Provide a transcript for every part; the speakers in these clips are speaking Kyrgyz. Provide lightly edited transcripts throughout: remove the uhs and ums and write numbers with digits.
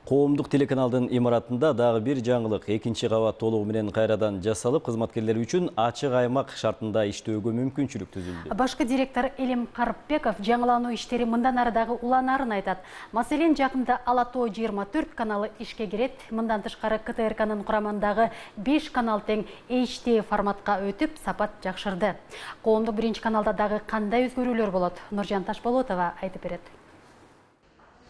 Коомдук телеканалдын имаратында дагы бир жаңылык экинчи кабат толугу менен кайрадан жасалып, кызматкерлер үчүн ачык аймак шартында иштөөгө мүмкүнчүлүк түзүлдү. Башкы директор Элим Карыпбеков жаңылануу иштери мындан ары дагы уланарын айтат. Маселен, жакында Ала Тоо 24 каналы ишке кирет. Мындан тышкары КТРКнын курамындагы 5 канал тең HD форматка өтүп, сапат жакшырды. Коомдук биринчи каналда дагы кандай өзгөрүүлөр болот? Нуржан Ташболотова айтып берет.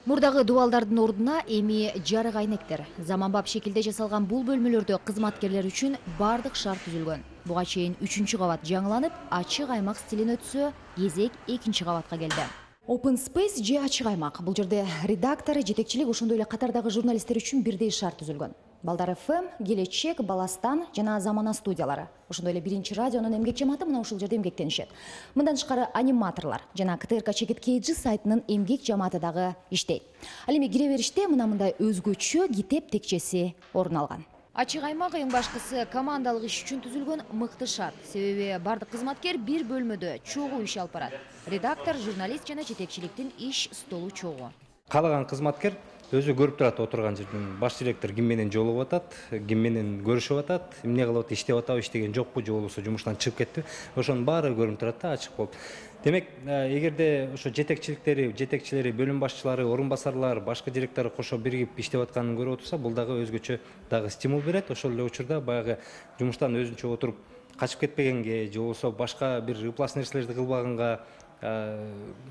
Мурдагы дубалдардын ордуна эми жарык айнектер. Заманбап шекилде жасалган бул бөлмөлөрдө кызматкерлер үчүн бардык шарт түзүлгөн. Буга чейин 3-кабат жаңыланып, ачык аймак стилин өтсө, кезек 2-кабатка келди. Open Space же ачык аймак. Бул жерде редактор, жетекчилик, ошондой эле катардагы журналисттер үчүн бирдей шарт түзүлгөн. Балдар ФМ, Келечек, Баластан жана Замана студиялары. Ошондой эле биринчи радионун эмгек жамааты мына ушул жерде эмгектенишет. Мындан тышкары аниматорлор жана КТРК Чекит KG сайтынын эмгек жамааты дагы иштейт. Ал эми кире бериште мындай өзгөчө китеп текчеси орун алган. Ачык аймак эң башкысы командалык иш үчүн түзүлгөн мыкты шарт. Себеби бардык кызматкер бир бөлмөдө чогуу иш алып барат. Редактор, журналист жана жетекчиликтин иш столу чогуу. Каалаган кызматкер өзү көрүп турат отурган жерден. Баш директор ким менен жолугуп атат, ким менен көрүшүп атат, эмне кылып атат, иштеп атабы, иштеген жокпу, же болбосо жумуштан чыгып кетти. Ошонун баары көрүнүп турат да, ачык болуп. Демек, эгерде ошо жетекчилери, бөлүм башчылары, орун басарлар, башкы директору кошо биригип иштеп атканын көрүп отурса, бул дагы өзгөчө дагы стимул берет. Ошол эле учурда баягы жумуштан өзүнчө отуруп качып кетпегенге, же болбосо башка бир ыплас нерселерди кылбаганга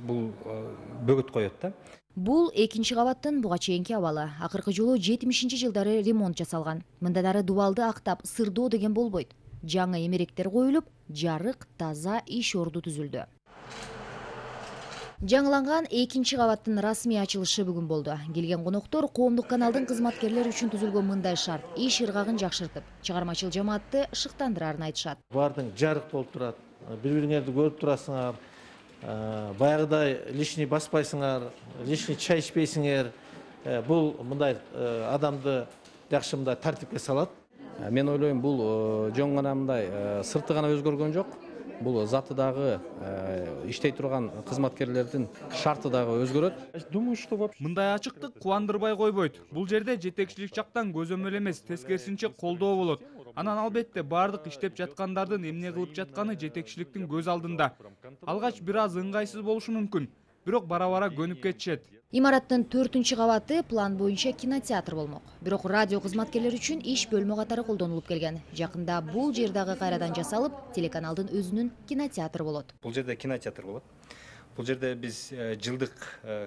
бул бөгөт коет да. Бул 2-кабаттын буга чейинки абалы. Акыркы жолу 70-жылдары ремонт жасалган. Мындан ары дубалды актап сырдоо деген болбойт. Жаңы эмеректер коюлуп, жарык, таза иш орду түзүлдү. Жаңыланган 2-кабаттын расмий ачылышы бүгүн болду. Келген коноктор коомдук каналдын кызматкерлери үчүн түзүлгөн мындай шарт иш ыргагын жакшыртып, чыгармачыл жамаатты шыктандырарын айтышат. Бардың жарык болуп турат, бири-бириңерди көрүп турасыңар, баягыдай лишний баспайсыңар, лишний чай ичпейсиңер. Бул мындай адамды жакшы мындай тартипке салат. Мен ойлойм, бул жөн гана мындай сырты гана өзгөргөн жок. Бул заты дагы иштей турган кызматкерлердин шарты дагы өзгөрөт. Думаю, что вообще мындай ачыктык кубандырбай койбойт. Бул жерде жетекчилик жактан көзөмөл эмес, тескерисинче колдоо болот. Анан албетте бардык иштеп жаткандардын эмне кылып жатканы жетекчиликтин көз алдында. Алгач бир аз ыңгайсыз болушу мүмкүн, бирок бара-бара көнүп кетишет. Имараттын 4-кабаты план боюнча кинотеатр болмок. Бирок радио кызматкерлери үчүн иш бөлмө катары колдонулуп келген. Жакында бул жер дагы кайрадан жасалып, телеканалдын өзүнүн кинотеатры болот. Бул жерде кинотеатр болот. Бул жерде биз жылдык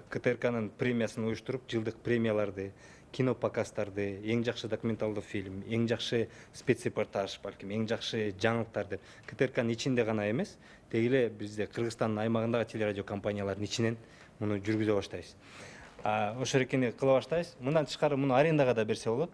КТРКнын премиясын уюштуруп, жылдык премияларды, кино показдарды, эң жакшы документалдуу фильм, эң жакшы спецрепортаж, балким эң жакшы жаңылыктарды КТРКнын ичинде гана эмес, деги эле бизде Кыргызстандын аймагындагы телерадио компаниялардын ичинен муну жүргүзө баштайбыз. Ошо эркини кыла баштайбыз. Мындан тышкары муну арендага да берсе болот.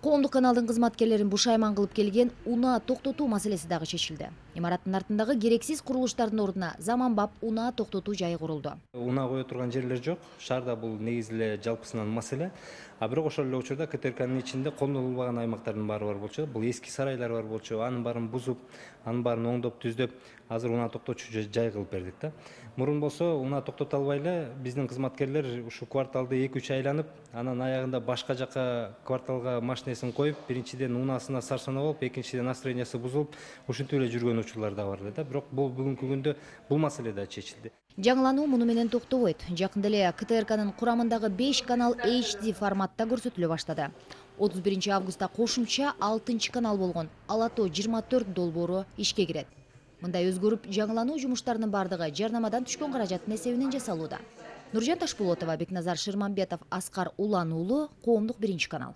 Коомдук каналдын кызматкерлерин бушайман кылып келген унаа токтотуу маселеси дагы чечилди. Имараттын артындагы керексиз курулуштардын ордуна заманбап унаа токтотуу жайы курулду. Унаа кое турган жерлер жок. Шаарда бул негизи эле жалпысынан маселе. Бирок ошол эле учурда КТРКнын ичинде колдонулбаган аймактардын баары бар болчу. Бул эски сарайлар бар болчу. Анын баарын бузуп, анын баарын оңдоп, түздөп, азыр унаа токтотчу жай кылып бердик да. Мурун болсо унаа токтото албай эле биздин кызматкерлер ушу кварталды 2-3 айланып, анан аягында башка жака кварталга машинесин коюп, биринчиден унаасына сарсана болуп, экинчиден настроениясы бузулуп, ушинтип эле жүргөн учурлар да бар эле да. Бирок бул бүгүнкү күндө бул маселе да чечилди. Жаңылануу муну менен токтобойт. Жакында эле КТРКнын курамындагы 5 канал HD форматта көрсөтүлө баштады. 31 августта кошумча 6 канал болгон Ала Тоо 24 долбоору ишке кирет. Мындай өзгөрүп, жаңылануу жумуштарынын бардыгы жарнамадан түшкөн каражаттын эсебинен жасалууда. Нуржан Ташболотова, Бекназар Шырмамбетов, Аскар Улан уулу, Коомдук биринчи канал.